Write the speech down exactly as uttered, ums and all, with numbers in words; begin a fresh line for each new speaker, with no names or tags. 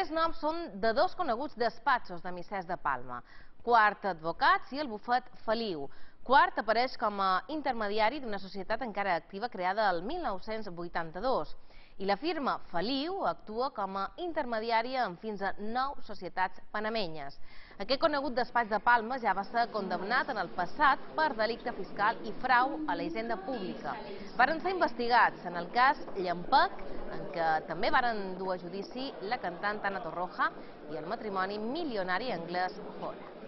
Tres noms són de dos coneguts despatxos de Missers de Palma, Quart Advocats i el bufet Feliu. Quart apareix com a intermediari d'una societat encara activa creada el mil nou-cents vuitanta-dos i la firma Feliu actua com a intermediària en fins a nou societats panamenyes. Aquest conegut despatx de Palma ja va ser condemnat en el passat per delicte fiscal i frau a la hisenda pública. Varen ser investigats en el cas Llampec, en què també varen dur a judici la cantant Ana Torroja i el matrimoni milionari anglès Ford.